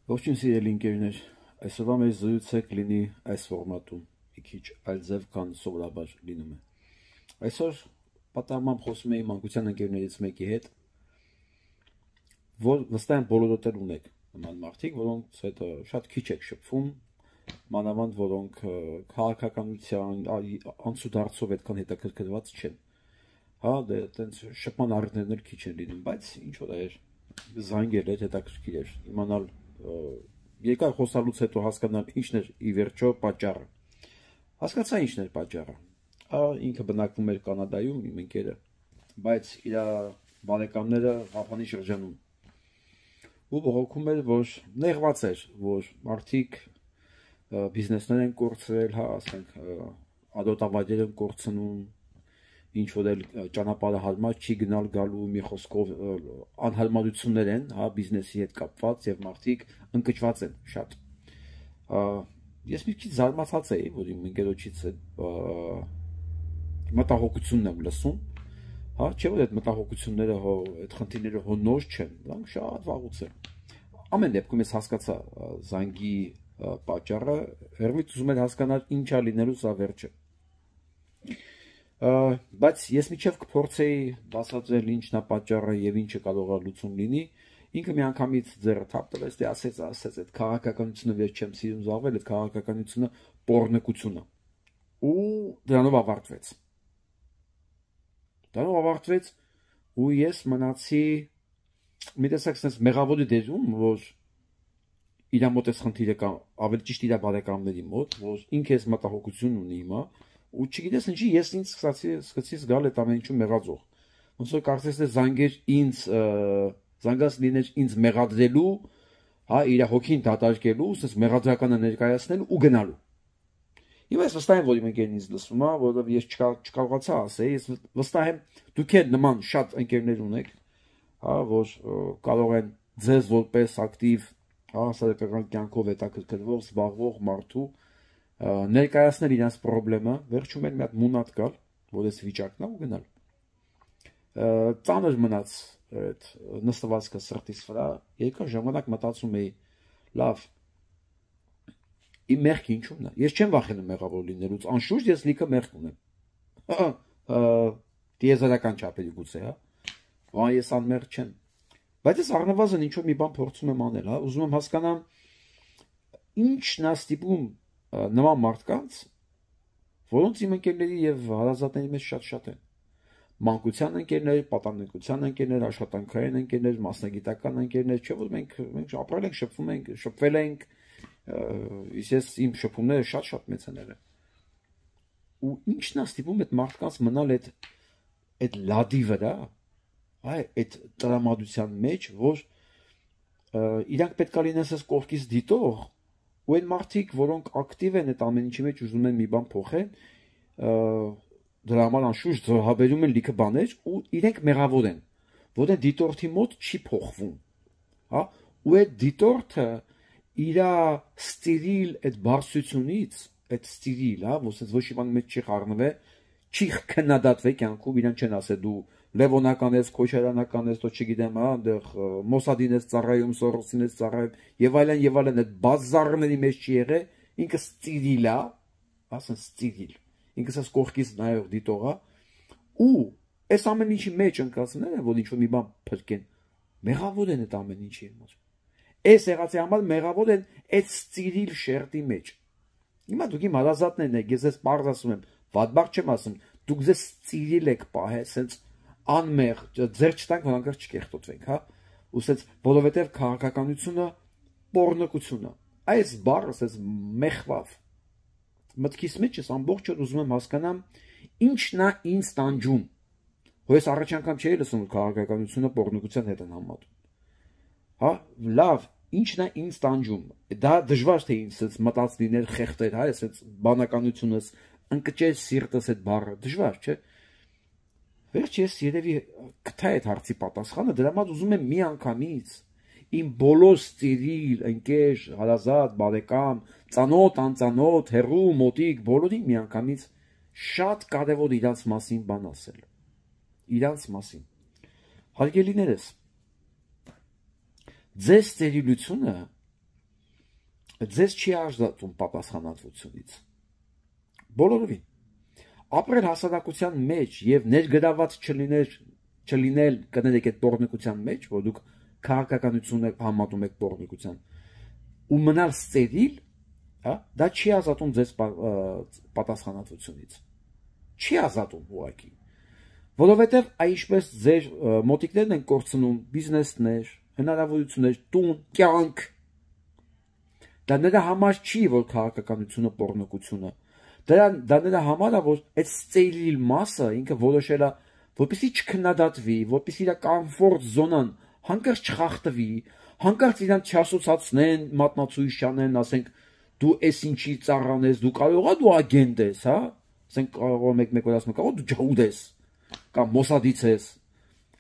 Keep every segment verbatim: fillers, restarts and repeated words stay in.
Ողջույն սիրելի ընկերներ, այսօրվա մեր զրույցը կլինի այս ֆորմատում, մի քիչ այլ ձև, քան սովորաբար լինում է։ Այսօր պատահմամբ խոսում էի մանկության ընկերներից մեկի հետ, որ վստահ եմ բոլորդ էլ ունեք նման մարդիկ, որոնց հետ շատ քիչ եք շփվում, մանավանդ որոնք քաղաքականության անցուդարձով այդքան հետաքրքրված չեն։ Հա, դե այտենց շփման առիթներն էլ քիչ են լինում, բայց ինչ որ էր, զանգել էր, հետաքրքիր էր իմանալ երկար խոսալուց հետո հասկանալ ինչն էր ի վերջո պատճառը։ Հասկացա ինչն էր պատճառը։ Ինքը բնակվում էր Կանադայում, իմ ընկերը, բայց իր բարեկամները Ղափանի շրջանում։ Ու բողոքում էր, որ նեղված էր, որ մարդիկ բիզնեսներ են կորցրել, հա, ասենք ադոտավայրեր են կորցնում, ինչ որ էլ ճանապարհը հարմար չի գնալ գալու, մի խոսքով անհարմարություններ են, հա, բիզնեսի հետ կապված եւ մարդիկ ընկճված են շատ։ Ես մի քիչ զարմացած էի, որ իմ ընկերոջից մտահոգությունն եմ լսում, հա, չէ՞ որ այդ մտահոգությունները հո այդ խնդիրները հո նոր չեն, դրանք շատ վաղուց են։ Ամեն դեպքում ես հասկացա զանգի պատճառը, հերվից ուզում եմ հասկանալ ինչա լինելու սա վերջը։ Բայց ես միջև կփորձեի բացատրել ինչն է պատճառը եւ ինչը կարող է լուծում լինի, ինքը միանգամից ձեռը թափ տվեց, դե ասեց, ասեց, այդ քաղաքականությունը ես չեմ սիրում զբաղվել, այդ քաղաքականությունը պոռնկություն է։ Ու դրանով ավարտվեց։ Դրանով ավարտվեց ու ես մնացի մի տեսակ sense մեղավորի դերում, որ իր մոտ էս խնդիրը կա, ավելի ճիշտ իր բարեկամների մոտ, որ ինքը էս մտահոգություն ունի հիմա, ու չգիտես ինչի ես ինձ սկսեցի սկսեցի զգալ այդ ամեն ինչու մեղածող։ Ոնց որ կարծես թե զանգեր ինձ զանգած լիներ ինձ մեղադրելու, հա, իր հոգին դատարկելու, ասես մեղադրականը ներկայացնելու ու գնալու։ Հիմա ես վստահ եմ, որ իմ ընկերն ինձ լսում է, որովհետև ես չկարողացա ասել, ես վստահ եմ դուք էլ նման շատ ընկերներ ունեք, հա, որ կարող են ձեզ որպես ակտիվ, հա, հասարակական կյանքով հետաքրքրվող, զբաղվող մարդու ներկայացնել իրենց խնդրը, վերջում էլ մի հատ մունատ գալ, որ այս վիճակն է ու գնալ։ Ծանր մնաց այդ նստվածքը սրտիս վրա, երկար ժամանակ մտածում էի, լավ, իմ մեղքը ինչու՞մն է։ Ես չեմ վախենում մեղավոր լինելուց, անշուշտ ես լիքը մեղք ունեմ։ Տիեզերական չափերի գուցե, հա։ Բան ես անմեղք չեմ։ Բայց ես առնվազն ինչ որ մի բան փորձում եմ անել, հա, ուզում եմ հասկանամ ինչն է ստիպում նման մարդկանց, որոնց իմ ընկերների եւ հարազատների մեջ շատ-շատ են։ Մանկության ընկերներ, պատանեկության ընկերներ, աշխատանքային ընկերներ, մասնագիտական ընկերներ, չէ՞ որ մենք մենք ապրել ենք, շփվում ենք, շփվել ենք, ես իմ շփումները շատ-շատ մեծ են եղել։ Ու ինչն է ստիպում այդ մարդկանց մնալ այդ այդ լադի վրա, այ այդ տրամադրության մեջ, որ իրանք պետք է լինեն ասես կողքից դիտող, ու այն մարդիկ, որոնք ակտիվ են այդ ամեն ինչի մեջ ուզում են մի բան փոխել, դրա համար անշուշտ զոհաբերում են լիքը բաներ ու իրենք մեղավոր են, որ այդ դիտորդի մոտ չի փոխվում, հա, ու այդ դիտորդը իր ստիրիլ այդ բարձությունից, այդ ստիրիլ, հա, որ ոչ մի բան մեջ չի խառնվել, չի քննադատվել կյանքում, իրան չեն ասել դու լևոնական ես, քոչարանական ես, ոչ չգիտեմ, հա, այնտեղ մոսադին ես ծառայում, սորոսին ես ծառայում, եւ այլն եւ այլն, այդ բազարների մեջ չի եղել, ինքը ստիրիլ է, ասեն ստիրիլ, ինքը ասես կողքից նայող դիտող է, ու այս ամեն ինչի մեջ ընկածները, որ ինչ որ մի բան փրկեն, մեղավոր են այդ ամեն ինչի համար։ Այս եղածի համար մեղավոր են այդ ստիրիլ շերտի մեջ։ Հիմա դուք իմ հարազատներն եք, ես ես բարձ ասում եմ, վատբախ չեմ ասում, դուք ձեզ ստիրիլ եք պահել, ասենց անմեղ, ձեր չտանք, որ անկար չկեղտոտվենք, հա, ու ասենց, որովհետև քաղաքականությունը պոռնկություն է։ Այս բառը, ասենց, մեղվավ։ Մտքիս մեջ ես ամբողջ օր ուզում եմ հասկանամ ինչն է ինձ տանջում։ Որ ես առաջ անգամ չէի լսում, որ քաղաքականությունը պոռնկության հետ են համատում։ Հա, լավ, ինչն է ինձ տանջում։ Դա դժվար թե ինձ ասենց մտած լիներ խեղտեր, հա, ասենց բանականությունս ընկճել սիրտս այդ բառը, դժվար, չէ՞։ Վերջ ես երևի կթա այդ հարցի պատասխանը, դրա համար ուզում եմ մի անգամից իմ բոլոր ստիրիլ, ընկեր, հարազատ, բարեկամ, ծանոթ, անծանոթ, հեռու, մոտիկ, բոլորին մի անգամից շատ կարևոր իրանց մասին բան ասել։ Իրանց մասին։ Հարգելիներս, ձեր ստերիլությունը ձեզ չի ազատում պատասխանատվությունից։ Բոլորովին։ Ապրել հասարակության մեջ եւ ներգրաված չլինել, չլինել կներեք այդ բորնիկության մեջ, որ դուք քաղաքականությունը համատում եք բորնիկության, ու մնալ ստերիլ, հա, դա չի ազատում ձեզ պատասխանատվությունից։ Չի ազատում ուղղակի։ Որովհետեւ այնպես ձեր մոտիկներն են կորցնում բիզնեսներ, հնարավորություններ, տուն, կյանք։ Դա նրա համար չի, որ քաղաքականությունը բորնիկությունը Դա դա նրա համար է, որ այդ ստերիլ մասը ինքը որոշել է, որպեսզի չքննադատվի, որպեսզի իր կոմֆորտ զոնան հանկարծ չխախտվի, հանկարծ իրան չասոցացնեն, մատնացույց չանեն, ասենք դու էս ինչի ծառան ես, դու կարող ես դու ագենտ ես, հա, ասենք կարող է մեկ-մեկ որ ասում կարող դու ջհուդ ես, կամ մոսադից ես,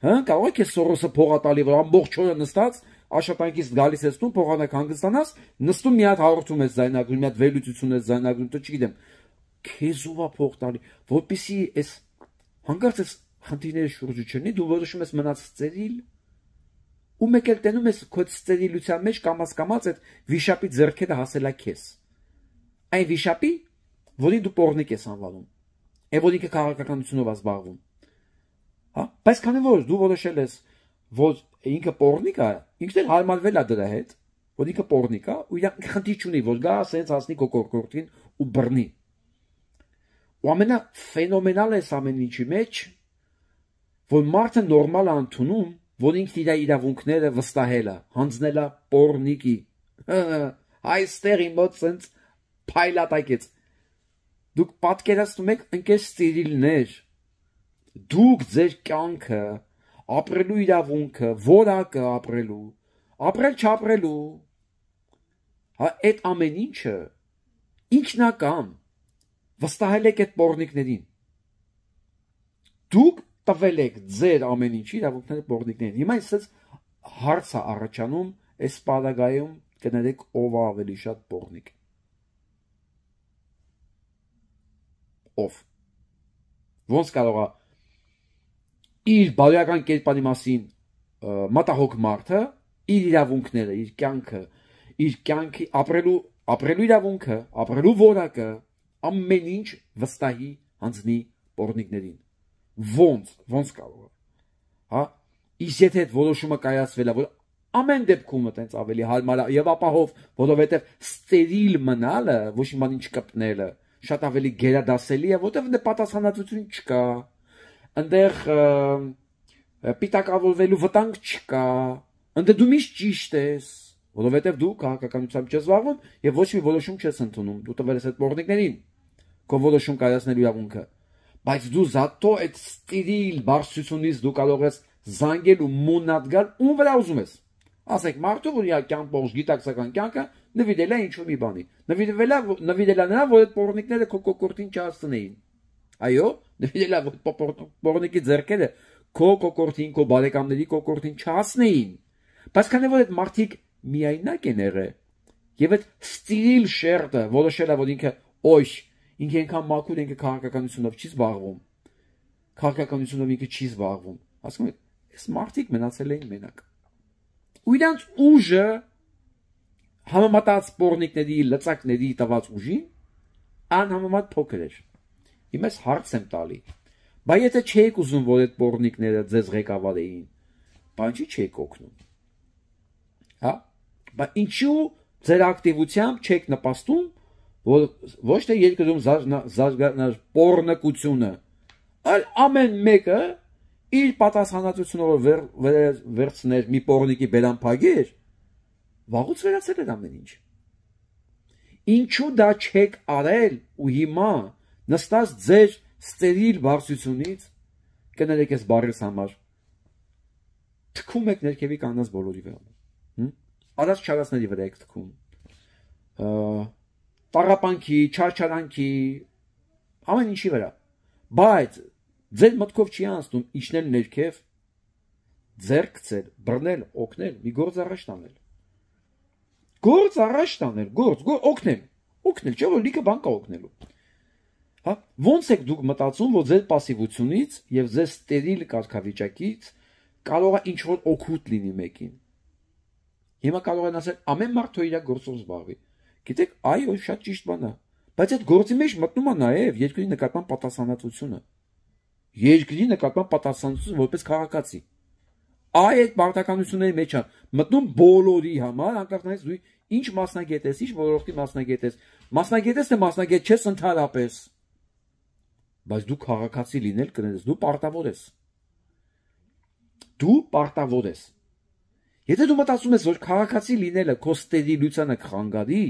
հա, կարող է քեզ Սորոսը փողա տալի, որ ամբողջ օրը նստած աշխատանքից գալիս ես տուն, փողանակ հանգստանաս, նստում մի հատ հաղորդում ես զայնագրում, մի հատ վերլուծություն ես զայնագրում, դու չգիտեմ քեզ ով է փող տալի, որպեսզի այս հանկարծ այս խնդիրների շուրջը չլինի, դու որոշում ես մնաց ստերիլ, ու մեկ էլ տենում ես քո ստերիլության մեջ կամաց-կամաց այդ վիշապի ձեռքերը հասելա քեզ։ Այն վիշապի, որին դու պոռնիկ ես անվանում, եւ որ ինքը քաղաքականությունով է զբաղվում։ Հա, բայց քանի որ դու որոշել ես, որ ինքը պոռնիկ է, ինքն էլ հարմարվել է դրա հետ, որ ինքը պոռնիկ է, ու իր խնդիր չունի, որ գա ասենց հասնի քո կորկորտին ու բռնի։ Ու ամենա ֆենոմենալը է ամեն ինչի մեջ, որ մարդը նորմալ է ընդունում, որ ինքն իր իրավունքները վստահել է, հանձնել է պոռնիկի։ Այստեղ իմ մոտ սենց փայլատակեց։ Դուք պատկերացնում եք ընկեր ստերիլներ, դուք ձեր կյանքը, ապրելու իրավունքը, որակը ապրելու, ապրել չապրելու, հա, այդ ամեն ինչը ինքնական վստահել եք այդ պոռնիկներին։ Դուք տվել եք ձեր ամեն ինչի իրավունքները պոռնիկներին։ Հիմա այսպես հարց է առաջանում, այս պարագայում կներեք ով է ավելի շատ պոռնիկ։ Ով։ Ոնց կարող է իր բարոյական կերպարի մասին մտահոգ մարդը իր իրավունքները, իր կյանքը, իր կյանքի ապրելու ապրելու իրավունքը, ապրելու որակը ամեն ինչ վստահի հանձնի պոռնիկներին։ Ոնց, ոնց կարող է։ Հա, իսկ եթե այդ որոշումը կայացվել է, որ ամեն դեպքում այտենց ավելի հարմար է եւ ապահով, որովհետեւ ստերիլ մնալը, ոչ մի բան ինչ կպնելը, շատ ավելի գերադասելի է, որովհետեւ դե պատասխանատվություն չկա։ Այնտեղ պիտակավորվելու վտանգ չկա։ Այնտեղ դու միշտ ճիշտ ես, որովհետեւ դու քաղաքականությամբ չես զբաղվում եւ ոչ մի որոշում չես ընդունում։ Դու տվել ես այդ պոռնիկներին քո որոշում կայացնելու իրավունքը, բայց դու զատո այդ ստերիլ բարձրությունից դու կարող ես զանգել ու մունատ գալ ում վրա ուզում ես։ Ասենք մարդու, որ իր կյանք ողջ գիտակցական կյանքը նվիրել է ինչ-որ մի բանի, նվիրվել է նվիրել է նրան, որ այդ պոռնիկները քո կոկորտին չհասցնեին։ Այո, նվիրել է որ պոռնիկի ձեռքերը քո կոկորտին, քո բարեկամների կոկորտին չհասնեին։ Բայց քանի որ այդ մարդիկ միայնակ են եղել եւ այդ ստերիլ շերտը որոշել է, որ ինքը օյ ինքը այնքան մաքուր ինքը քաղաքականությունով չի զբաղվում, քաղաքականությունով ինքը չի զբաղվում, ասում եք, այս մարդիկ մնացել էին մենակ։ Ու իրանց ուժը համեմատած պոռնիկների, լծակների տված ուժին անհամեմատ փոքր էր։ Հիմա ես հարց եմ տալի, բայց եթե չեք ուզում, որ այդ պոռնիկները ձեզ ղեկավարեին, բան չի չեք օգնում։ Հա, բայց ինչու ձեր ակտիվությամբ չեք նպաստում, որ ոչ թե երկրում զարգանար պոռնկությունը, այլ ամեն մեկը իր պատասխանատվությունը վերցներ մի պոռնիկի բերան փագեր, վաղուց վերացել էր ամեն ինչ։ Ինչու դա չեք արել ու հիմա նստած ձեր ստերիլ բարձրությունից կներեք ես բարես համար թքում եք ներքևի կանանց բոլորի վրա։ Արած չարածների վրա եք թքում։ Տառապանքի, չարչարանքի, ամեն ինչի վրա։ Բայց ձեր մտքով չի անցնում իջնել ներքև, ձեռք գցել, բռնել, օգնել, մի գործ առաջ տանել։ Գործ առաջ տանել, գործ, օգնել, օգնել, չէ՞ որ լիքը բան կա օգնելու։ Հա, ոնց եք դուք մտածում, որ ձեր пассивությունից եւ ձեր ստերիլ կարգավիճակից կարող է ինչ-որ օգուտ լինի մեկին։ Հիմա կարող են ասել ամեն մարդ թող իր գործով զբաղվի։ Գիտեք, այո, շատ ճիշտ բան է։ Բայց այդ գործի մեջ մտնում է նաև երկրի նկատմամբ պատասխանատվությունը։ Երկրի նկատմամբ պատասխանատվությունը որպես քաղաքացի։ Այ այդ պարտականությունների մեջ է մտնում բոլորի համար, անկախ նրանից դու ինչ մասնագետ ես, ինչ ոլորտի մասնագետ ես։ Մասնագետ ես, թե մասնագետ չես ընդհանրապես։ Բայց դու քաղաքացի լինել կներես, դու պարտավոր ես։ Դու պարտավոր ես։ Եթե դու մտածում ես, որ քաղաքացի լինելը քո ստերիլությանը կխանգարի,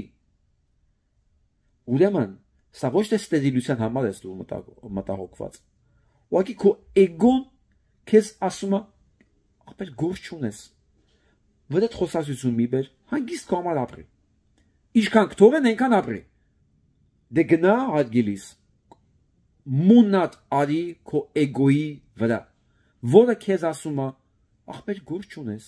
ուրեմն սա ոչ թե ստերիլության համար ես դու մտահոգված։ Ուղղակի քո էգոն քեզ ասում է, ապեր գործ չունես։ Որ այդ խոսակցություն մի բեր, հանգիստ քո համար ապրի։ Ինչքան կթողեն, այնքան ապրի։ Դե գնա հարգելիս։ Մունատ արի քո էգոյի վրա, որը քեզ ասում է, ախպեր գործ չունես։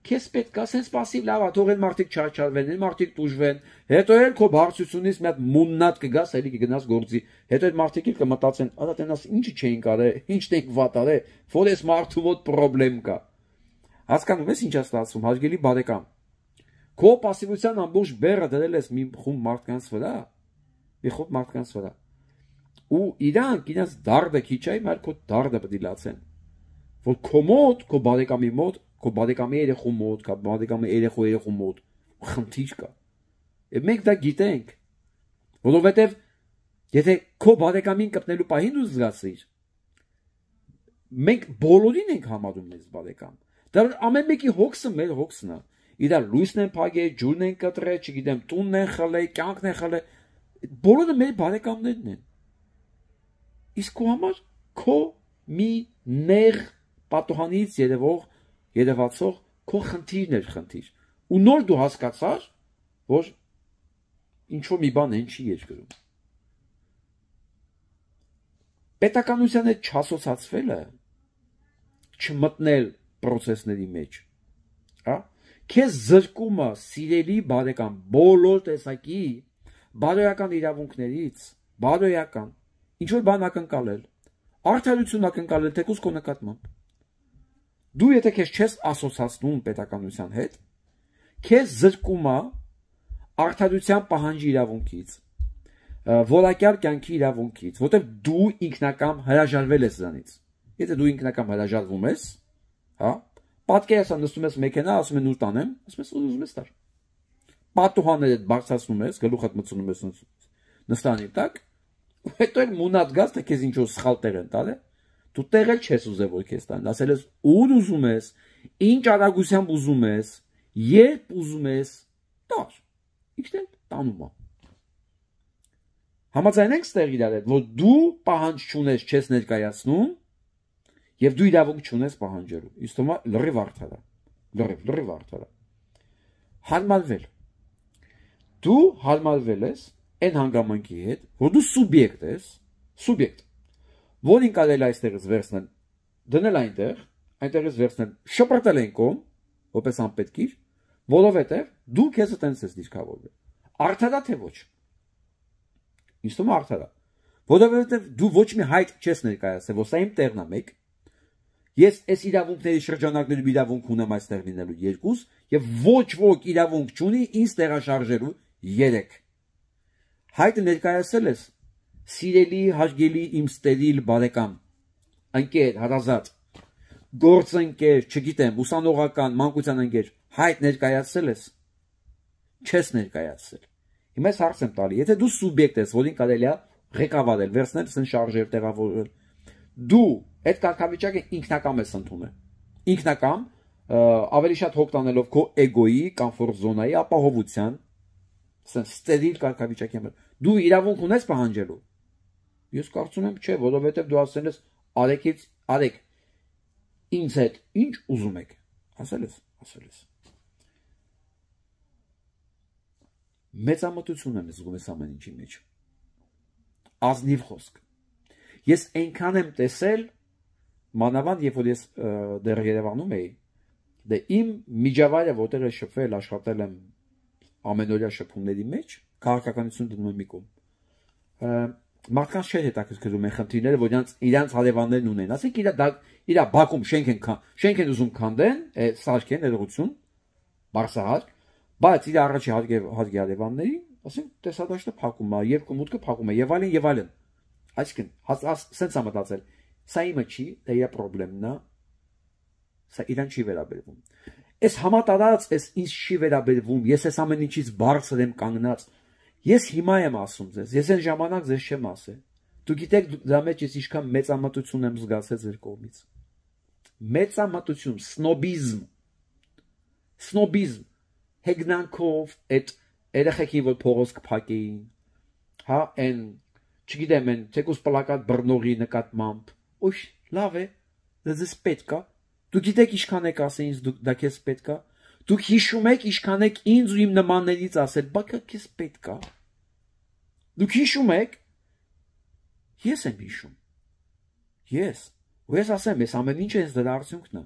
Քեզ պետք է ասես պասիվ լավ է, թող են մարդիկ չարչարվեն, են մարդիկ տուժվեն, հետո էլ քո բարձությունից մի հատ մուննատ կգաս, էլի կգնաս գործի, հետո այդ մարդիկ էլ կմտածեն, ադա տենաս ինչի չէին կարել, ինչն ենք վատ արել, որ էս մարդու մոտ պրոբլեմ կա։ Հասկանում ես ինչ է ստացվում, հարգելի բարեկամ։ Քո պասիվության ամբողջ բեռը դրել ես մի խումբ մարդկանց վրա, մի խումբ մարդկանց վրա։ Ու իրանք իրենց դարդը քիչ այ, մայր քո դարդը պետք է լացեն։ Որ քո մոտ, քո բարեկամի մոտ Քո բարեկամի երեխու մոտ, քո բարեկամի երեխու երեխու մոտ խնդիր կա։ Եվ մենք դա գիտենք, որովհետև եթե քո բարեկամին կպնելու պահին դու զգացիր, մենք բոլորին ենք համարում մեզ բարեկամ։ Դա ամեն մեկի հոգսը մեր հոգսն է։ Իրար լույսն են փակել, ջուրն են կտրել, չգիտեմ, տունն են խլել, կյանքն են խլել։ Բոլորը մեր բարեկամներն են։ Իսկ քո համար քո մի նեղ պատոհանից երևող երևացող քո խնդիրն էր խնդիր։ Ու նոր դու հասկացար, որ ինչ-որ մի բան են չի երկրում։ Պետականության հետ չասոցացվելը, չմտնել պրոցեսների մեջ, հա, քեզ զրկում է սիրելի բարեկամ բոլոր տեսակի բարոյական իրավունքներից, բարոյական, ինչ-որ բան ակնկալել, արդարություն ակնկալել թեկուզ քո նկատմամբ։ Դու եթե քեզ չես ասոցացնում պետականության հետ, քեզ զրկում է արդարության պահանջի իրավունքից, որակյալ կյանքի իրավունքից, որտեղ դու ինքնակամ հրաժարվել ես դրանից։ Եթե դու ինքնակամ հրաժարվում ես, հա, պատկերացա նստում ես մեքենա, ասում են ուր տանեմ, ասում ես ուզում ես տար։ Պատուհանները բարձրացնում ես, գլուխդ մտցնում ես նստանի տակ, ու հետո էլ մունատ գաս, թե քեզ ինչ-որ սխալ տեղ են տալը։ Դու տեղել չես ուզել որ քեզ տան, ասել ես ուր ուզում ես, ինչ արագությամբ ուզում ես, երբ ուզում ես, տար, ինքն էլ տանում է։ Համաձայն ենք ստեղ իրար հետ, որ դու պահանջ չունես, չես ներկայացնում, եւ դու իրավունք չունես պահանջելու։ Իսկ թվում է լրիվ արդար է, լրիվ, լրիվ արդար է։ Հարմարվել։ Դու հարմարվել ես այն հանգամանքի հետ, որ դու սուբյեկտ ես, սուբյեկտ որին կարելի այստեղից վերցնել, դնել այնտեղ, այնտեղից վերցնել, շպրտել այն կողմ, որպես անպետքիր, որովհետև դու քեզը տենց ես դիրքավորվել։ Արդար է թե ոչ։ Ինձ թվում է արդար է։ Որովհետև դու ոչ մի հայտ չես ներկայացել, որ սա իմ տեղն է մեկ։ Ես այս իրավունքների շրջանակներում իրավունք ունեմ այստեղ լինելու երկուս, եւ ոչ ոք իրավունք չունի ինձ տեղաշարժելու երեք։ Հայտը ներկայացել ես սիրելի, հարգելի իմ ստերիլ բարեկամ, ընկեր, հարազատ, գործընկեր, չգիտեմ, ուսանողական, մանկության ընկեր, հայտ ներկայացել ես, չես ներկայացել։ Հիմա ես հարց եմ տալի, եթե դու սուբյեկտ ես, որին կարելի է ղեկավարել, վերցնել սեն շարժեր տեղավորել, դու այդ կարգավիճակը ինքնակամ ես ընդունել։ Ինքնակամ, ավելի շատ հոգ տանելով քո էգոյի, կոմֆորտ զոնայի ապահովության, սեն ստերիլ կարգավիճակի համար, դու իրավունք ունես պահանջելու։ Ես կարծում եմ չէ, որովհետև դու ասել ես արեկից արեք ինձ հետ ինչ ուզում եք, ասել ես, ասել ես։ Մեծամտություն եմ զգում ես ամեն ինչի մեջ։ Ազնիվ խոսք։ Ես այնքան եմ տեսել, մանավանդ երբ որ ես դեռ Երևանում էի, դե իմ միջավայրը որտեղ է շփվել, աշխատել եմ ամենօրյա շփումների մեջ, քաղաքականություն դնում եմ մի կողմ։ Մարդկանց չէր հետաքրքրում են խնդիրները, որ իրանց իրանց հարևաններն ունեն։ Ասենք իրա իրա բակում շենք են շենք են ուզում քանդեն, սարքեն ներողություն, բարսահար, բայց իր առաջի հարգարևաններին, ասենք տեսադաշտը փակում է, երկու մուտքը փակում է եւ այլն եւ այլն։ Այսինքն, սենց է մտածել, սա իմը չի, դա իր խնդիրն է, սա իրան չի վերաբերվում։ Այս համատարած, այս ինձ չի վերաբերվում, ես այս ամեն ինչից բարձր եմ կանգնած։ Ես հիմա եմ ասում ձեզ, ես այն ժամանակ ձեզ չեմ ասել։ Դուք գիտեք դրա մեջ ես ինչքան մեծամտություն եմ զգացել ձեր կողմից։ Մեծամտություն, սնոբիզմ։ Սնոբիզմ, հեգնանքով այդ երեխեքի որ փողոց կփակեին, հա, այն, չգիտեմ, այն թեկուզ պլակատ բռնողի նկատմամբ, ուշ, լավ է, դες պետք է։ Դուք գիտեք ինչքան եք ասել ինձ, դա քեզ պետք է։ Դուք հիշում եք ինչքան եք ինձ ու իմ նմաններից ասել, բա քեզ պետք է։ Դուք հիշում եք։ Ես եմ հիշում։ Ես։ Ու ես ասեմ, ես ամեն ինչը ես դրա արդյունքն է։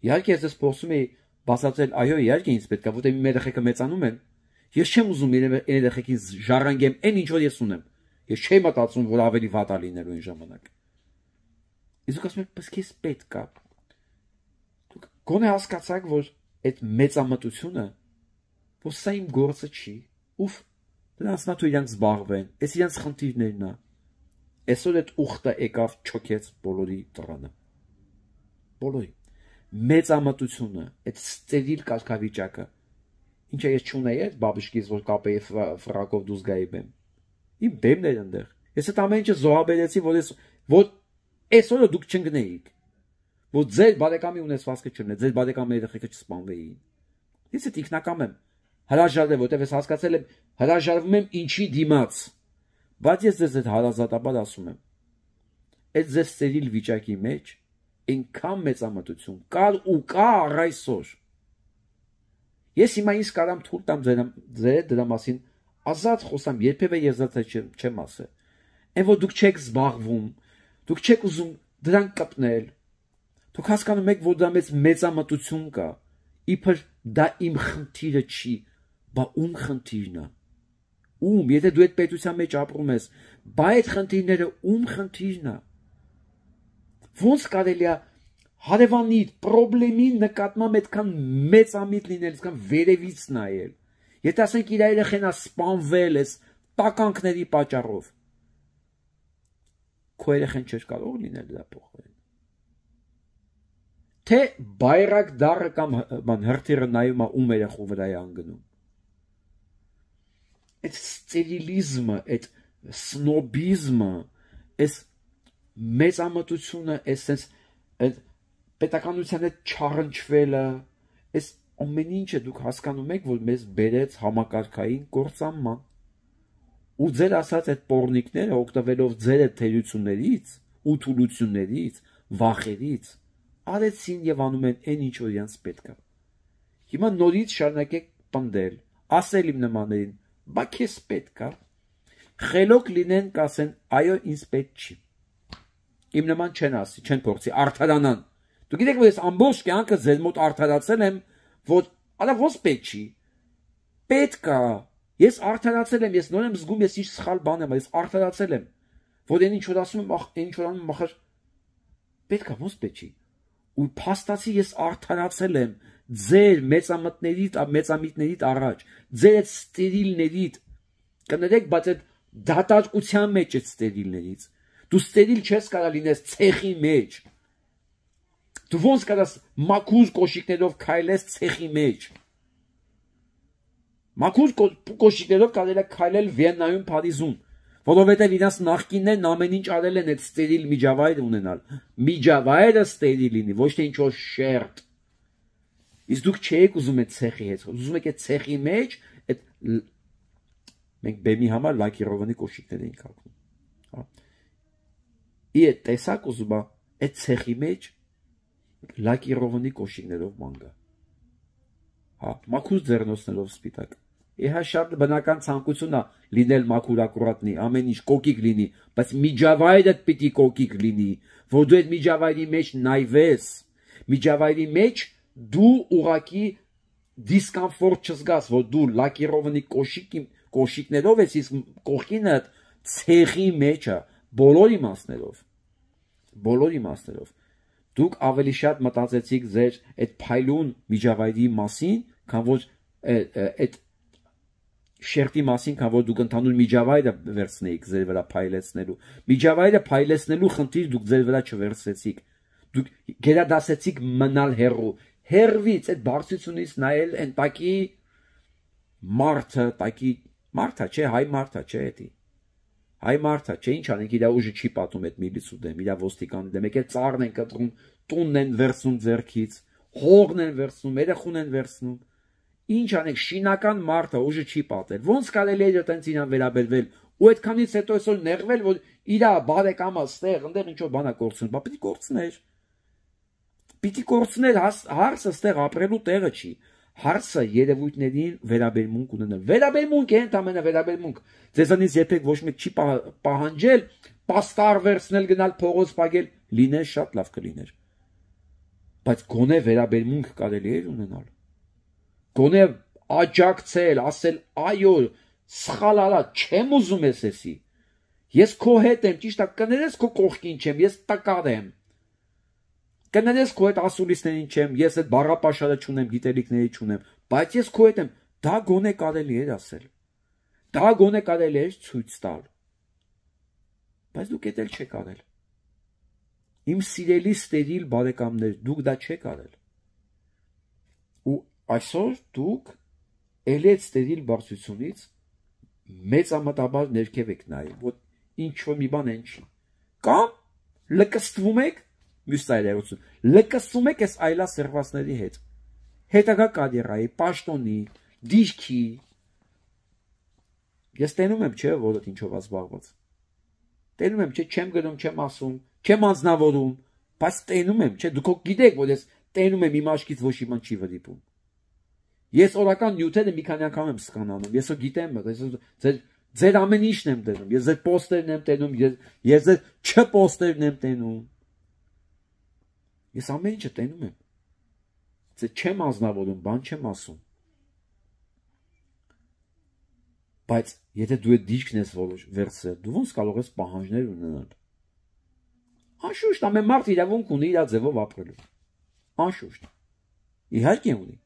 Իհարկե ես փորձում եի բացատրել, այո, իհարկե ինձ պետք է, որտեղ իմ երեխեքը մեծանում են։ Ես չեմ ուզում իմ երեխեքին ժառանգեմ այն ինչ որ ես ունեմ։ Ես չեմ մտածում, որ ավելի վատ է լինելու այն ժամանակ։ Իսկ ասում եք, բայց քեզ պետք է։ Դուք գոնե հասկացաք, որ այդ մեծամտությունը, որ սա իմ գործը չի, ուֆ, դրանց նա թույլ իրանք զբաղվեն, այս իրանց խնդիրներն է։ Այսօր այդ ուխտը եկավ չոքեց բոլորի տրանը։ Բոլորի։ Մեծամտությունը, այդ ստերիլ կարգավիճակը, ինչը ես չունեի այդ բաբիշկից, որ կապեի ֆրակով դուրս գայի բեմ։ Իմ բեմն էր այնտեղ։ Ես այդ ամեն ինչը զոհաբերեցի, որ ես որ այսօրը դուք չընկնեիք, որ ձեր բարեկամի ունեցվածքը չլիներ, ձեր բարեկամի երեխեքը չսպանվեին։ Ես այդ ինքնակամ եմ հրաժարվել, որտեղ ես հասկացել եմ, հրաժարվում եմ ինչի դիմաց։ Բայց ես ձեզ այդ հարազատաբար ասում եմ, այդ ձեր ստերիլ վիճակի մեջ այնքան մեծամտություն կար ու կա առ այսօր։ Ես հիմա ինձ կարամ թույլ տամ ձեր դրա մասին ազատ խոսամ, երբևէ ես դա չեմ ասել։ Այն որ դուք չեք զբաղվում, դուք չեք ուզում դրան կպնել։ Դուք հասկանում եք, որ դա մեծ մեծամտություն կա։ Իբր դա իմ խնդիրը չի, բա ում խնդիրն է։ Ում, եթե դու այդ պետության մեջ ապրում ես, բա այդ խնդիրները ում խնդիրն է։ Ոնց կարելի է հարևանի խնդրի նկատմամբ այդքան մեծամիտ լինել, այդքան վերևից նայել։ Եթե ասենք իր երեխան է սպանվել էս տականքների պատճառով, քո երեխան չէր կարող լինել դրա փոխարեն։ Թե բայրակ դառը կամ բան հրթիռը նայում է ում երեխու վրա է անգնում։ Այդ ստերիլիզմը, այդ սնոբիզմը, այս մեծամտությունը, այս այդ պետականության հետ չառնչվելը, այս ամեն ինչը դուք հասկանում եք, որ մեզ բերեց համակարգային կործանման։ Ու ձեր ասած այդ պոռնիկները օգտվելով ձեր այդ թերություններից, ու թուլություններից, վախերից, արեցին եւ անում են այն ինչ որ իրանց պետք է։ Հիմա նորից շարունակեք պնդել, ասել իմ նմաններին, բա քեզ պետք է։ Խելոք լինեն կասեն, այո, ինձ պետք չի։ Իմ նման չեն ասի, չեն փորձի արդարանան։ Դուք գիտեք, որ ես ամբողջ կյանքը ձեր մոտ արդարացել եմ, որ արա ոնց պետք չի։ Պետք է։ Ես արդարացել եմ, ես նոր եմ զգում, ես ինչ սխալ բան եմ, ես արդարացել եմ, որ այն ինչ որ ասում եմ, այն ինչ որ անում եմ, ախր պետք է, ոնց պետք չի։ Ու փաստացի ես արդարացել եմ ձեր մեծամտներիդ, մեծամիտներիդ առաջ, ձեր այդ ստերիլներիդ, կներեք, բայց այդ դատարկության մեջ այդ ստերիլներից, դու ստերիլ չես կարա լինես ցեխի մեջ, դու ոնց կարաս մաքուր կոշիկներով քայլես ցեխի մեջ, մաքուր կոշիկներով կարելի է քայլել Վիեննայում, Փարիզում, որովհետև իրանց նախկիններն ամեն ինչ արել են այդ ստերիլ միջավայր ունենալ, միջավայրը ստերիլ լինի, ոչ թե ինչ-որ շերտ։ Իսկ դուք չեք ուզում այդ ցեխի հետ, ուզում եք այդ ցեխի մեջ, այդ մենք բեմի համար լակիրովանի կոշիկներ էինք հագնում։ Ի այդ տեսակ ուզում է այդ ցեխի մեջ լակիրովանի կոշիկներով մանգա։ Հա, մաքուր ձեռնոցներով սպիտակ։ Իհա շատ բնական ցանկություն է լինել մաքուր ակուրատնի, ամեն ինչ կոկիկ լինի, բայց միջավայրը պիտի կոկիկ լինի, որ դու այդ միջավայրի մեջ նայվես, միջավայրի մեջ դու ուղակի դիսկոմֆորտ չզգաս, որ դու լակիրովանի կոշիկի կոշիկներով ես, իսկ կողքինը ցեխի մեջ է, բոլոր իմաստներով, բոլոր իմաստներով։ Դուք ավելի շատ մտածեցիք ձեր այդ փայլուն միջավայրի մասին, քան որ այդ շերտի մասին, քան որ դուք ընդհանուր միջավայրը վերցնեիք ձեր վրա փայլեցնելու։ Միջավայրը փայլեցնելու խնդիր դուք ձեր վրա չվերցրեցիք։ Դուք գերադասեցիք մնալ հեռու։ Հեռվից այդ բարձությունից նայել այն տակի մարդը, տակի մարդա, չէ, հայ մարդա, չէ, էդի։ Հայ մարդա, չէ, ինչ անենք, իր ուժը չի պատում այդ միլիցու դեմ, իր ոստիկանի դեմ, եկել ծառն են կտրում, տունն են վերցնում ձեռքից, հողն են վերցնում, երեխուն են վերցնում։ Ինչ անենք, շինական մարդը ուժը չի պատել։ Ոնց կարելի է այդտենց իրան վերաբերվել, ու այդքանից հետո այսօր նեղվել, որ իր բարեկամը ստեղ, այնտեղ ինչ որ բանա կորցնում, բա պիտի կորցներ։ Պիտի կորցներ, հարցը ստեղ ապրելու տեղը չի։ Հարցը երևույթներին վերաբերմունք ունենալ։ Վերաբերմունք է, ընդամենը վերաբերմունք։ Ձեզանից երբեք ոչ մեկ չի պահանջել պաստար վերցնել, գնալ փողոց պագել, լիներ շատ լավ կլիներ։ Բայց գոնե վերաբերմունք կարելի է ունենալ։ Գոնե աջակցել, ասել այո, սխալ արա, չեմ ուզում ես էսի։ Ես քո հետ եմ, ճիշտ է, կներես քո կողքին չեմ, ես տկար եմ։ Կներես քո հետ ասուլիսներին չեմ, ես այդ բառապաշարը չունեմ, գիտելիքների չունեմ, բայց ես քո հետ եմ, դա գոնե կարելի էր ասել։ Դա գոնե կարելի էր ցույց տալ։ Բայց դուք դա չեք արել։ Իմ սիրելի ստերիլ բարեկամներ, դուք դա չեք արել։ Ու այսօր դուք ելի այդ ստերիլ բարձությունից մեծամտաբար ներքև եք նայում, որ ինչ որ մի բան են չի։ Կամ լկստվում եք, մյուս այլերություն, լկստվում եք այս այլա սերվածների հետ։ Հետագա կարիերայի, պաշտոնի, դիրքի։ Ես տենում եմ, չէ, որ այդ ինչով ազբաղված։ Տենում եմ, չէ, չեմ գնում, չեմ ասում, չեմ անձնավորում, բայց տենում եմ, չէ, դուք գիտեք, որ ես տենում եմ իմ աչքից ոչ իման չի վրիպում։ Ես օրական նյութերը մի քանի անգամ եմ սկանանում, ես գիտեմ, ձեր ձեր ամեն ինչն եմ տենում, ես ձեր պոստերն եմ տենում, ես ձեր չպոստերն եմ տենում։ Ես ամեն ինչը տենում եմ։ Ձեր չեմ անձնավորում, բան չեմ ասում։ Բայց եթե դու այդ դիրքն ես վերցրել, դու ոնց կարող ես պահանջներ ունենալ։ Անշուշտ ամեն մարդ իրավունք ունի իր ձևով ապրելու։ Անշուշտ։ Իհարկե ունի։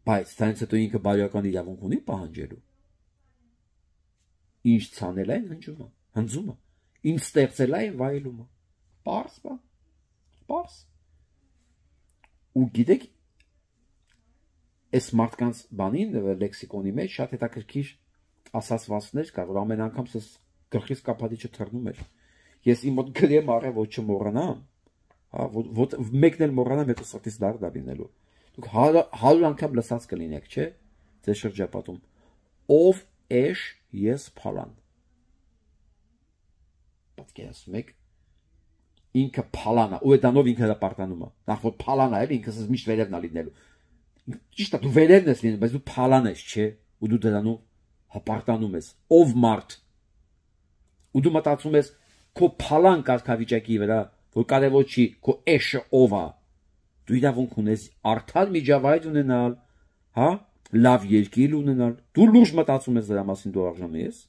Բայց դրանից հետո ինքը բարոյական իրավունք ունի պահանջելու։ Ինչ ցանել է հնջումը, հնձումը, ինչ ստեղծել է վայելումը։ Պարզ բա։ Պարզ։ Ու գիտեք, այս մարդկանց բանին լեքսիկոնի մեջ շատ հետաքրքիր ասացվածքներ կա, որ ամեն անգամ ես գլխից կապադիչը թռնում էր։ Ես իմ մոտ գրեմ առել, որ չմոռանամ, հա, որ մեկն էլ մոռանամ, հետո սրտից դառնա լինելու։ Դուք հարյուր անգամ լսած կլինեք, չէ՞, ձեր շրջապատում։ Ով էշ ես փալան։ Պատկերացնում եք, ինքը փալանա, ու այդանով ինքը հրապարտանում է։ Նախ որ փալանա է, ինքս միշտ վերևն է լինելու։ Ճիշտ է, դու վերևն ես լինում, բայց դու փալան ես, չէ՞, ու դու դրանով հպարտանում ես։ Ով մարդ։ Ու դու մտածում ես քո փալան կարգավիճակի վրա, որ կարևոր չի, քո էշը ով է։ Դու իրավունք ունես արդար միջավայր ունենալ, հա, լավ երկիր ունենալ։ Դու լուրջ մտածում ես դրա մասին, դու արժանի ես։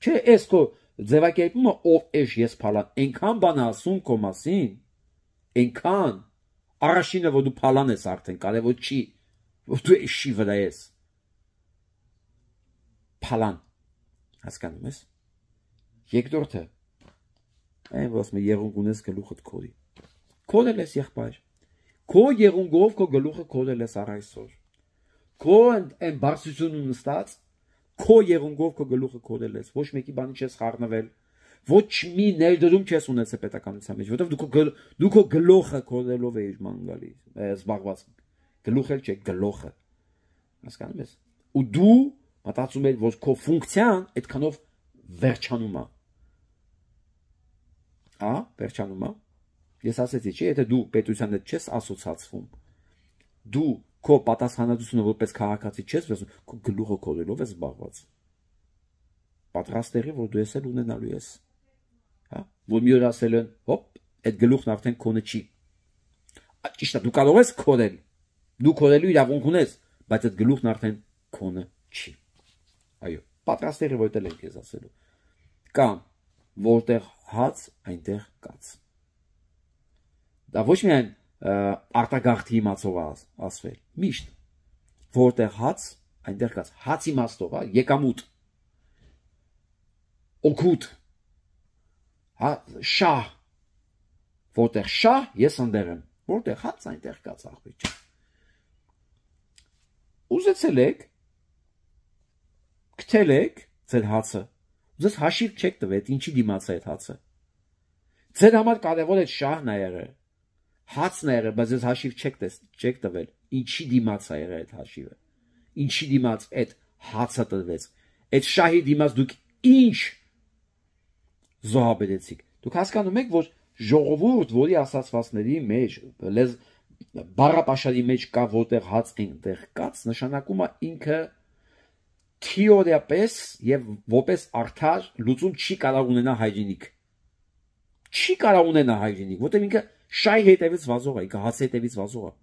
Չէ, էս քո ձևակերպումը ով էշ ես փալան, այնքան բան ասում քո մասին, այնքան առաջինը որ դու փալան ես արդեն, կարևոր չի, որ դու էշի վրա ես։ Փալան, հասկանում ես։ Երկրորդը, այն որ ասում է եղունգ ունես գլուխդ քորի։ Քորել ես եղբայր։ Քո եղունգով քո գլուխը քորել ես առ այսօր։ Քո այն բարձրությունն նստած, քո եղունգով քո գլուխը քորել ես, ոչ մեկի բանի չես խառնվել, ոչ մի ներդրում չես ունեցել պետականության մեջ, որովհետև դու քո գլուխը քորելով էիր ման գալի, զբաղված։ Գլուխ էլ չէ, գլուխը։ Հասկանում ես։ Ու դու մտածում ես, որ քո ֆունկցիան այդքանով վերջանում է։ Ա, վերջանում է։ Ես ասեցի, չէ, եթե դու պետության հետ չես ասոցացվում, դու քո պատասխանատվությունը որպես քաղաքացի չես վերցնում, քո գլուխը քորելով ես զբաղված։ Պատրաստ եղի, որ դու ես էլ ունենալու ես։ Հա, որ մի օր ասել են, հոպ, այդ գլուխն արդեն քոնը չի։ Ճիշտ է, դու կարող ես քորել։ Դու քորելու իրավունք ունես, բայց այդ գլուխն արդեն քոնը չի։ Այո, պատրաստ եղի, որ դա էլ ես ասելու։ Կամ որտեղ հաց, այնտեղ կաց։ Դա ոչ միայն արտագաղթի իմացով ասվել, միշտ, որտեղ հաց, այնտեղ կաց հաց իմաստով, հա, եկամուտ, օգուտ, հա, շահ, որտեղ շահ, ես ընդեղ եմ, որտեղ հաց, այնտեղ կաց աղբիջ։ Ուզեցել եք, կթել եք ձեր հացը, ուզես հաշիվ չեք տվետ, ինչի դիմաց է այդ հացը։ Ձեր համար կարևոր է շահն է եղել, հացն է եղել, բայց ես հաշիվ չեք տվել, ինչի դիմաց է եղել այդ հաշիվը, ինչի դիմաց այդ հացը տրվեց, այդ շահի դիմաց դուք ինչ զոհաբերեցիք։ Դուք հասկանում եք, որ ժողովուրդ, որի ասացվածների մեջ, բառապաշարի մեջ կա, որտեղ հաց այնտեղ կաց, նշանակում է ինքը թեորիապես եւ որպես արդար լուծում չի կարող ունենա հայրենիք։ Չի կարող ունենա հայրենիք, որտեղ ինքը շահի հետևից վազող է, ինքը հացի հետևից վազող է։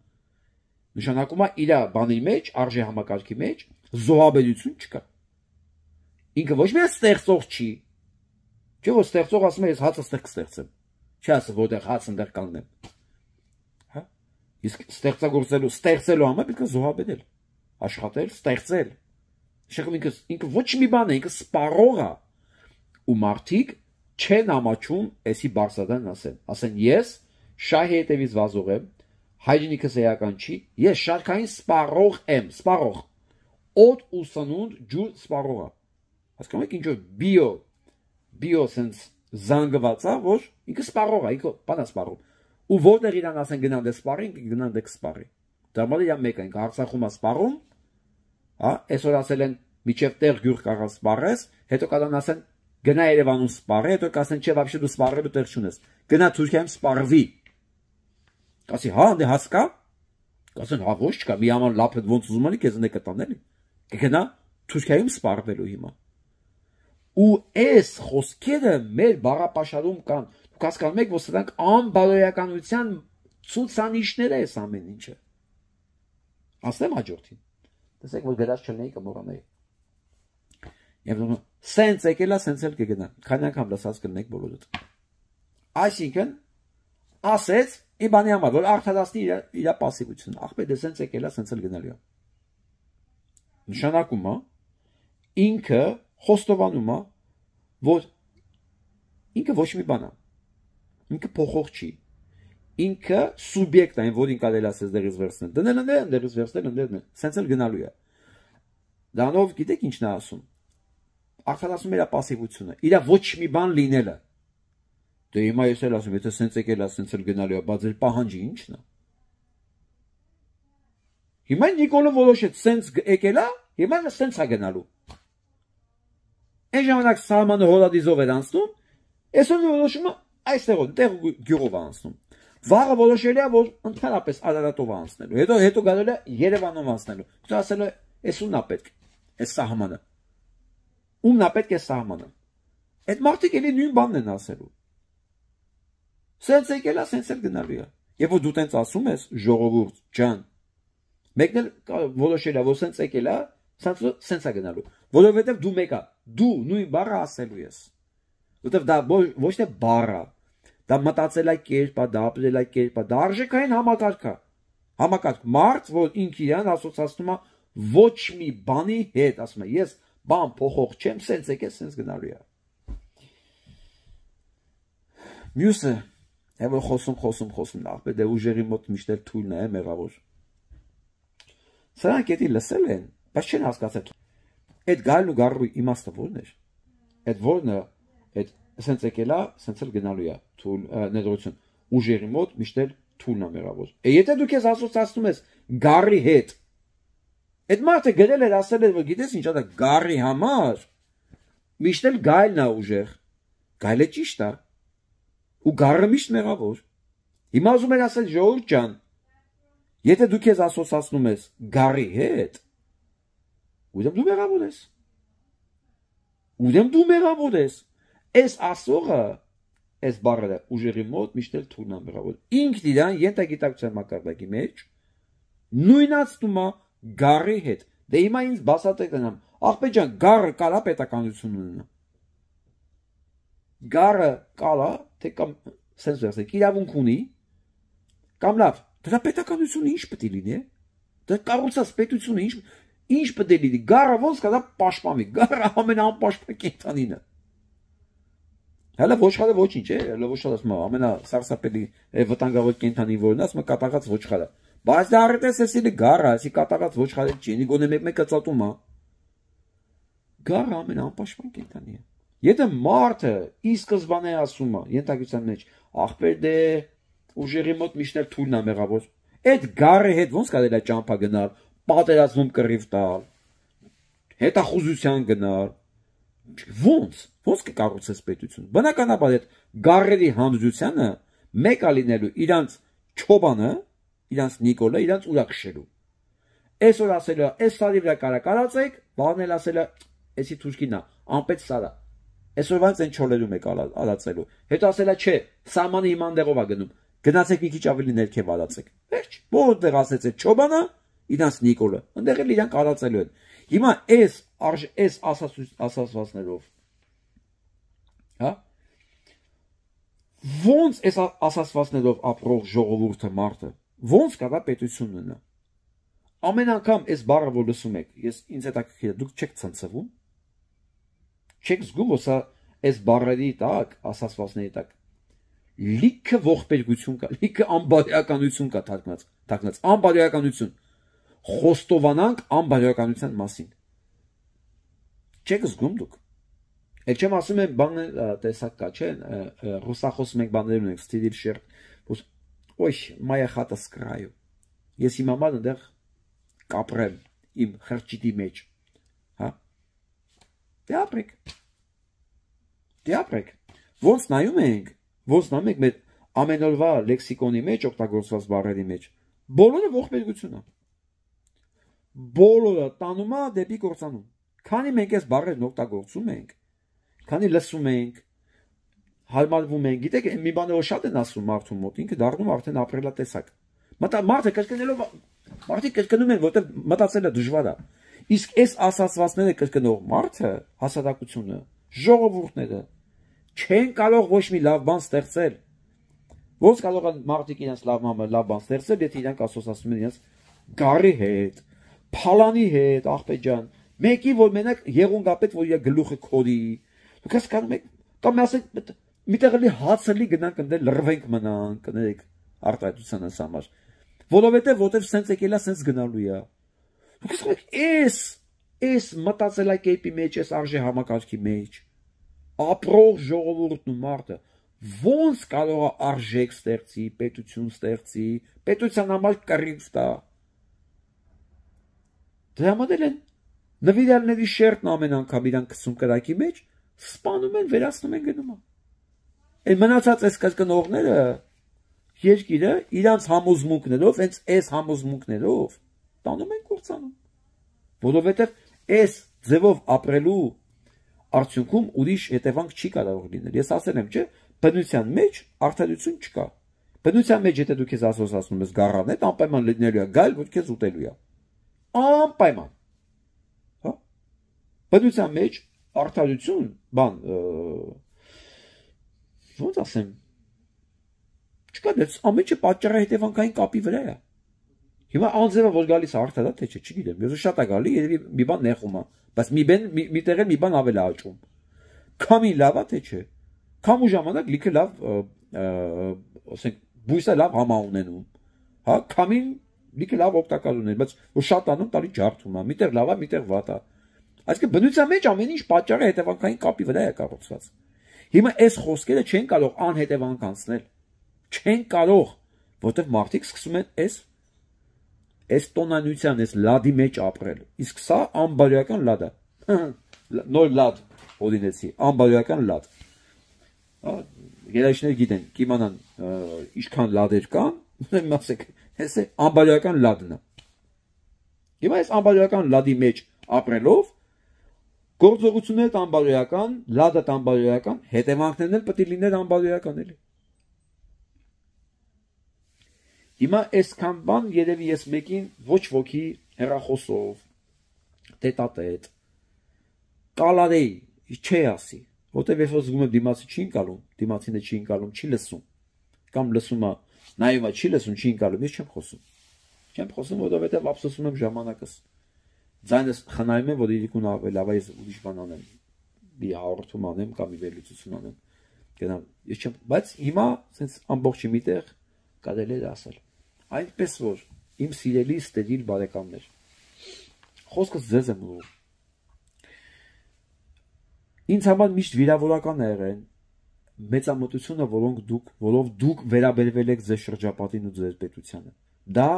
Նշանակում է իր բանի մեջ, արժե համակարգի մեջ զոհաբերություն չկա։ Ինքը ոչ միայն ստեղծող չի, չէ՞ որ ստեղծող ասում է ես հացը ստեղ կստեղծեմ։ Չի ասում որտեղ հաց ընդեղ կանգնեմ։ Հա։ Իսկ ստեղծագործելու, ստեղծելու համար պետք է զոհաբերել, աշխատել, ստեղծել։ Շեղում ինքը ինքը ոչ մի բան է, ինքը սպառող է։ Ու մարդիկ չեն ամաչում էսի բարձրադան ասեն, ասեն ես շահի հետևից վազող եմ, հայրենիքս էական չի, ես շարքային սպառող եմ, սպառող, օդ ու սնունդ ջուր սպառող է։ Հասկանում եք ինչ որ բիո, բիո sense զանգված է, որ ինքը սպառող է, ինքը բանա սպառող։ Ու որտեղ իրան ասեն գնան դե սպառի, ինքը գնան դե կսպառի։ Դա մալի իա մեկ է, ինքը Արցախում է սպառում, հա, այսօր ասել են միջև տեղ գյուղ կարող սպառես, հետո կան ասեն գնա Երևանում սպառի, հետո կասեն չէ, вообще դու սպառելու տեղ չունես։ Գնա Թուրքիայում սպառվի։ Կասի հա, դե հասկա։ Կասեն հա ոչ չկա, մի աման լափդ ոնց ուզում անի քեզ նե կտան էլի։ Կգնա Թուրքիայում սպառվելու հիմա։ Ու այս խոսքերը մեր բառապաշարում կան։ Դուք հասկանում եք, որ սրանք անբարոյականության ցուցանիշներ է այս ամեն ինչը։ Ասեմ հաջորդին։ Տեսեք, որ գրած չլինի կմոռանայի։ Եվ դու սենց եկելա, սենց էլ կգնա։ Քանի անգամ լսած կլինեք բոլորդ։ Այսինքն, ասեց իմ բանի համար, որ արդարացնի իր իր пассивությունը։ Ախպետ է սենց եկելա, սենց էլ գնալու է։ Նշանակում է ինքը խոստովանում է, որ ինքը ոչ մի բան է։ Ինքը փոխող չի։ Ինքը սուբյեկտ է, որին կարելի ասես դերից վերցնել։ Դնել ընդեր, դերից վերցնել, ընդեր, սենց էլ գնալու է։ Դանով գիտեք ինչն է ասում։ Արդարացնում իր пассивությունը, իր ոչ մի բան լինելը։ Դե հիմա ես էլ ասում, եթե սենց եկել է, սենց էլ գնալու է, բայց ձեր պահանջը ի՞նչն է։ Հիմա Նիկոլը որոշեց, սենց եկել է, հիմա սենց է գնալու։ Այն ժամանակ սահմանը հոլադիզով էր անցնում, այսօր որոշումը այստեղով, տեղ գյուղով անցնում։ Վաղը որոշել է, որ ընդհանրապես Արարատով անցնելու։ Հետո հետո գալու է Երևանով անցնելու։ Դա ասել է, այս ումն է պետք, այս սահմանը։ Ումն է պետք է սահմանը։ Այդ մարդիկ էլի նույն բանն են ասելու։ Սենց եկել է, սենց էլ գնալու է։ Եվ որ դու տենց ասում ես, ժողովուրդ ջան, մեկն էլ որոշել է, որ սենց եկել է, սենց է գնալու։ Որովհետև դու մեկա, դու նույն բառը ասելու ես։ Որովհետև դա ոչ թե բառ է, դա մտածելակերպ է, դա ապրելակերպ է, դա արժեքային համակարգ է։ Համակարգ մարդ, որ ինքը իրան ասոցացնում է ոչ մի բանի հետ, ասում է, ես բան փոխող չեմ, սենց եկել, սենց գնալու է։ Մյուսը, եւ որ խոսում, խոսում, խոսում, ախպետ դե ուժերի մոտ միշտ էլ թույլն է, մեղավոր։ Սրանք էդի լսել են, բայց չեն հասկացել։ Այդ գալու գարու իմաստը ո՞րն էր։ Այդ ո՞րն է, այդ սենց եկել է, սենց էլ գնալու է, թույլ ներողություն։ Ուժերի մոտ միշտ էլ թույլն է, մեղավոր։ Է եթե դու քեզ ասոցացնում ես գարի հետ, այդ մարդը գրել էր, ասել էր, որ գիտես ինչ է դա գարի համար, միշտ էլ գայլն է ուժեղ։ Գայլը ճիշտ է։ Ու գարը միշտ մեղավոր։ Հիմա ուզում են ասել ժողովուրդ ջան, եթե դու քեզ ասոցացնում ես գարի հետ, ուրեմն դու մեղավոր ես։ Ուրեմն դու մեղավոր ես։ Այս ասողը, այս բառը ուժերի մոտ միշտ էլ թույլն է մեղավոր։ Ինքն իրան ենթագիտակցության մակարդակի մեջ նույնացնում է գարի հետ։ Դե հիմա ինձ բացատրեք նրան, ախպետ ջան, գարը կարա պետականություն ունենա։ Գարը կարա, թե կամ սենց վերցեք, իրավունք ունի, կամ լավ, դրա պետականությունը ինչ պետք է լինի։ Դա կառուցած պետությունը ինչ ինչ պետք է լինի։ Գառը ոնց կա դա պաշտպանվի։ Գառը ամենաանպաշտպան կենդանին է։ Հələ ոչխարը ոչինչ է, հələ ոչխարը ասում է ամենասարսափելի վտանգավոր կենդանի որն ասում է կատաղած ոչխարը։ Բայց դա արդեն էսի գառը, էսի կատաղած ոչխարը չի, ինի գոնե մեկ-մեկը ծածում է։ Գառը ամենաանպաշտպան կենդանի է։ Եթե մարդը ի սկզբանե ասում է, ենթակության մեջ, ախպեր դե ուժերի մոտ միշտ էլ թույլն է մեղավոր։ Այդ գառի հետ ոնց կարելի է ճամփա գնալ, պատերազմում կռիվ տալ, հետախուզության գնալ։ Ոնց, ոնց կկառուցես պետություն։ Բնականաբար այդ գառերի հանդրությանը մեկ է լինելու իրանց չոբանը, իրանց Նիկոլը, իրանց ուրա քշելու։ Այսօր ասելը, այս սարի վրա կարա կարածեք, բանել ասելը, էսի թուրքինա, անպետ սարա։ Այսօրվանից այն չոլերում եք ալացելու։ Հետո ասելա չէ, սահմանը իման դեղով է գնում։ Գնացեք մի քիչ ավելի ներքև ալացեք։ Վերջ, որտեղ ասեց այդ չոբանը, իրանց Նիկոլը, այնտեղ էլ իրանք ալացելու են։ Հիմա այս այս ասացվածներով, հա? Ոնց այս ասացվածներով ապրող ժողովուրդը մարդը, ոնց կարա պետություն ունենա։ Ամեն անգամ այս բառը որ լսում եք, ես ինձ հետաքրքիր է, դուք չեք ցնցվում։ Չեք զգում, որ սա այս բառերի տակ, ասացվածների տակ լիքը ողբերգություն կա, լիքը անբարոյականություն կա թարգմանած, թարգմանած անբարոյականություն։ Խոստովանանք անբարոյականության մասին։ Չեք զգում դուք։ Էլ չեմ ասում եմ բան տեսակ կա, չէ՞, ռուսախոս մենք բաներ ունենք, ստիլի շերտ, ոյ, մայա խատը սկրայու։ Ես իմ համար այնտեղ կապրեմ իմ խրճիտի մեջ, հա։ Դե ապրեք։ Դե ապրեք։ Ոնց նայում ենք, ոնց նայում ենք մեր ամենօրվա լեքսիկոնի մեջ օգտագործված բառերի մեջ, բոլորը ողբերգություն է։ Բոլորը տանում է դեպի կործանում։ Քանի մենք այս բառերն օգտագործում ենք, քանի լսում ենք, հարմարվում ենք, գիտեք, մի բանը որ շատ են ասում մարդու մոտ, ինքը դառնում արդեն ապրելատեսակ։ Մարդը կրկնելով, մարդիկ կրկնում են, որտեղ մտածելը դժվար է։ Իսկ այս ասացվածները կրկնող մարդը, հասարակությունը, ժողովուրդները չեն կարող ոչ մի լավ բան ստեղծել։ Ոնց կարող են մարդիկ իրենց լավ լավ բան ստեղծել, եթե իրանք ասոցացնում են իրենց գառի հետ, փալանի հետ, աղբեր ջան, մեկի որ մենակ եղունգապետ, որ իր գլուխը քորի։ Դուք հասկանում եք, կամ ասեք, միտեղ էլի հացելի գնանք ընդ լրվենք մնանք, կներեք արտադրության համար։ Որովհետև որտեվ սենց եկելա, սենց գնալու է։ Դուք ասում եք, էս, էս մտածելակերպի մեջ, էս արժե համակարգի մեջ, ապրող ժողովուրդն ու մարդը ոնց կարող է արժեք ստեղծի, պետություն ստեղծի, պետության համար կռիվ տա։ Դրա համար են նվիրյալների շերտն ամեն անգամ իրան քսում կրակի մեջ, սպանում են, վերացնում են գնում։ Այն մնացած այս կրկնողները երկիրը իրանց համոզմունքներով, հենց այս համոզմունքներով տանում են կործանում։ Որովհետև այս ձևով ապրելու արդյունքում ուրիշ հետևանք չի կարող լինել։ Ես ասել եմ, չէ, բնության մեջ արդարություն չկա։ Բնության մեջ եթե դու քեզ ասոցացնում ես գառան հետ, անպայման լինելու է գալ, որ քեզ ուտելու է։ Անպայման։ Հա։ Բնության մեջ արդարություն, բան, ոնց ասեմ, չկա, դες ամենը պատճառը հետևանքային կապի վրա է։ Հիմա անձևը որ գալիս է արդար է, թե չէ, չգիտեմ, ես շատ է գալի, երևի մի բան նեղում է, բայց մի բան մի տեղ մի բան ավել է աճում։ Քամի լավ է, թե չէ։ Քամու ժամանակ լիքը լավ, ասենք, բույսը լավ համա ունենում։ Հա, քամին լիքը լավ օգտակար ուներ, բայց որ շատանում տալի ջարդում է, միտեղ լավ է, միտեղ վատ է։ Այսինքն բնության մեջ ամեն ինչ պատճառը հետևանքային կապի վրա է կառուցված։ Հիմա այս խոսքերը չեն կարող անհետևանք անցնել։ Չեն կարող, որտեղ մարդիկ սկսում են այս այս տոնանյության, այս լադի մեջ ապրել։ Իսկ սա անբարոյական լադ է։ Նոր լադ օրինեցի, անբարոյական լադ։ Երաժիշտները գիտեն, կիմանան ինչքան լադեր կան, ուրեմն ասեք, այս է անբարոյական լադն է։ Հիմա այս անբարոյական լադի մեջ ապրելով գործողությունները անբարոյական, լադը անբարոյական, հետևանքներն էլ պետք է լինեն անբարոյական էլի։ Հիմա այսքան բան երևի ես մեկին ոչ ոքի հեռախոսով, տետատետ, կալարեի, չի ասի, որտև երբ որ զգում եմ դիմացի չի ընկալում, դիմացին չի ընկալում, չի լսում, կամ լսում է, նայում է, չի լսում, չի ընկալում, ես չեմ խոսում։ Չեմ խոսում, որովհետև ափսոսում եմ ժամանակս։ Ձայնս խնայում եմ, որ իրիկուն ավելի լավ է ուրիշ բան անեմ, մի հաղորդում անեմ կամ մի վերլուծություն անեմ։ Գնամ, ես չեմ, բայց հիմա sense ամբողջ միտեղ կարելի է ասել։ Այդպես որ իմ սիրելի ստերիլ բարեկամներ, խոսքս ձեզ եմ ուղղում։ Ինձ համար միշտ վիրավորական է եղել մեծամտությունը, որոնք դուք, որով դուք վերաբերվել եք ձեր շրջապատին ու ձեր պետությանը։ Դա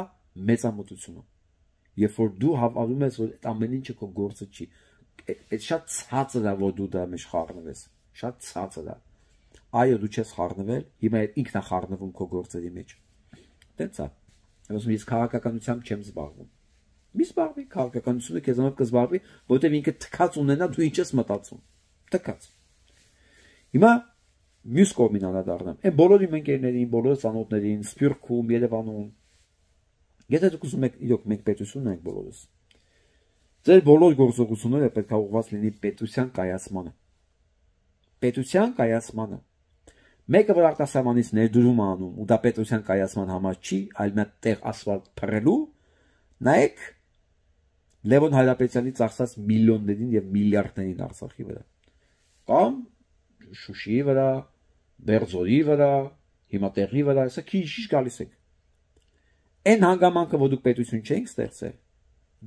մեծամտություն է։ Երբ որ դու հավատում ես, որ այդ ամեն ինչը քո գործը չի, այդ շատ ցածր է, որ դու դրա մեջ խառնվես, շատ ցածր է։ Այո, դու չես խառնվել, հիմա ինքն է խառնվում քո գործերի մեջ։ Տենց է։ Ասում ես քաղաքականությամբ չեմ զբաղվում։ Մի զբաղվի, քաղաքականությունը քեզանով կզբաղվի, որտեղ ինքը թքած ունենա, դու ինչ ես մտածում։ Թքած։ Հիմա մյուս կողմին անդրադառնամ։ Այն բոլոր իմ ընկերներին, բոլոր ծանոթներին, Սփյուռքում, Երևանում։ Եթե դուք ուզում եք, իրոք մենք պետություն ենք բոլորս։ Ձեր բոլոր գործողությունները պետք է ուղղված լինի պետության կայացմանը։ Պետության կայացմանը։ Մեկը որ արտասահմանից ներդրում է անում, ու դա պետության կայացման համար չի, այլ մի տեղ ասֆալտ փռելու, նայեք Լևոն Հայրապետյանի ծախսած միլիոններին եւ միլիարդներին Արցախի վրա։ Կամ Շուշիի վրա, Բերձորի վրա, հիմա տեղի վրա, հեսա քիչ գալիս եք։ Այն հանգամանքը, որ դուք պետություն չենք ստեղծել,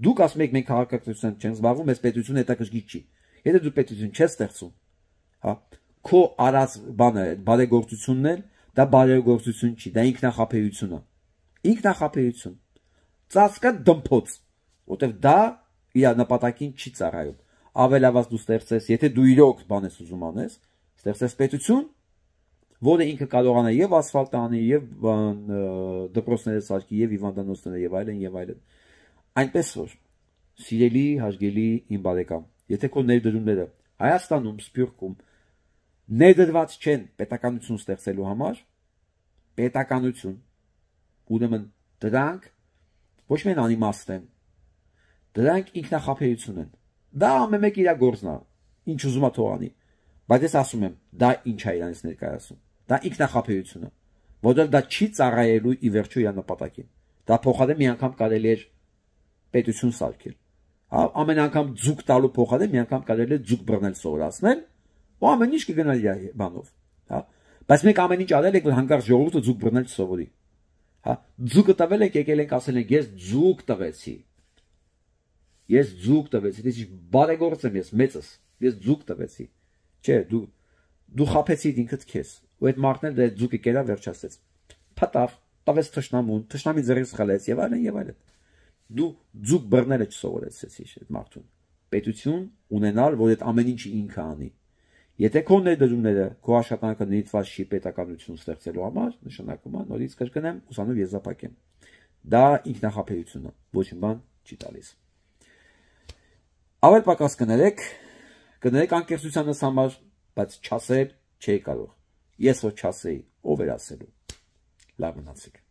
դուք ասում եք մենք քաղաքականությամբ չենք զբաղվում, այս պետությունը հետաքրքիր չի։ Եթե դու պետություն չես ստեղծում, հա, քո արած բանը, բարեգործությունն էլ, դա բարեգործություն չի, դա ինքնախապեյություն է։ Ինքնախապեյություն։ Ծածկա դմփոց, որտեվ դա իր նպատակին չի ծառայում։ Ավելավազ դու ստեղծես, եթե դու իրոք բան ես ուզում անես, ստեղծես պետություն, որը ինքը կարողանա եւ ասֆալտ անի, եւ դպրոցները սարքի, եւ հիվանդանոցները, եւ այլն, եւ այլն։ Այնպես որ, սիրելի, հարգելի իմ բարեկամ, եթե քո ներդրումները Հայաստանում, Սփյուռքում ներդրված չեն պետականություն ստեղծելու համար, պետականություն, ուրեմն դրանք ոչ միայն անիմաստ են, դրանք ինքնախապեյություն են։ Դա ամեն մեկ իր գործն է, ինչ ուզում է թող անի, բայց ես ասում եմ, դա ինչ է իրանից ներկայացում։ Դա ինքնախապեյություն է, որտեղ դա չի ծառայելու ի վերջո իր նպատակին։ Դա փոխարեն մի անգամ կարելի է պետություն սարքել։ Հա, ամեն անգամ ձուկ տալու փոխարեն մի անգամ կարելի է ձուկ բռնել սովորացնել, ու ամեն ինչ կգնա իր բանով, հա։ Բայց մենք ամեն ինչ արել ենք, որ հանկարծ ժողովուրդը ձուկ բռնել չսովորի։ Հա, ձուկը տվել ենք, եկել ենք ասել ենք, ես ձուկ տվեցի։ Ես ձուկ տվեցի, ես բարեգործ եմ, ես մեծս, ես ձուկ տվեցի։ Չէ, դու դու խափեցիր ինքդ քեզ, ու այդ մարդն էլ դե ձուկը կերա վերջացեց։ Փտավ, տվեց թշնամուն, թշնամի ձեռից խլեց եւ այլն եւ այլն։ Դու ձուկ բռնելը չսովորեցիր այդ մարդուն։ Պետություն ունենալ, որ այդ ամեն ինչը ինքը անի։ Եթե քո ներդրումները, քո աշխատանքը նույնպես չի պետականություն ստեղծելու համար, նշանակում է նորից կրկնեմ, ուսանով եզրափակեմ։ Դա ինքնախապեյություն է, ոչ մի բան չի տալիս։ Ավել պակաս կներեք, կներեք անկեղծությանս համար, բայց չասել չէի կարող։ Ես որ չասեի, ով էր ասելու։ Լավ մնացեք։